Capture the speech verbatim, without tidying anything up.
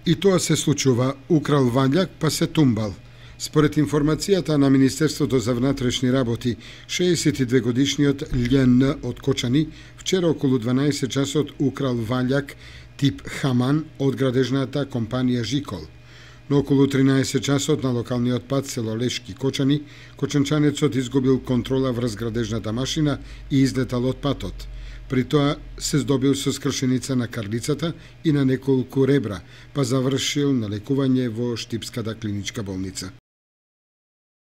И тоа се случува, украл вањак па се тумбал. Според информацијата на Министерството за внатрешни работи, шеесет и две годишниот Љ.Н. од Кочани вчера околу дванаесет часот украл вањак тип Хаман од градежната компанија Жикол. Но околу тринаесет часот на локалниот пат село Лешки Кочани, кочанчанецот изгубил контрола врз градежната машина и излетал од патот. При тоа се здобил со скршеница на карлицата и на неколку ребра, па завршил на лекување во Штипската клиничка болница.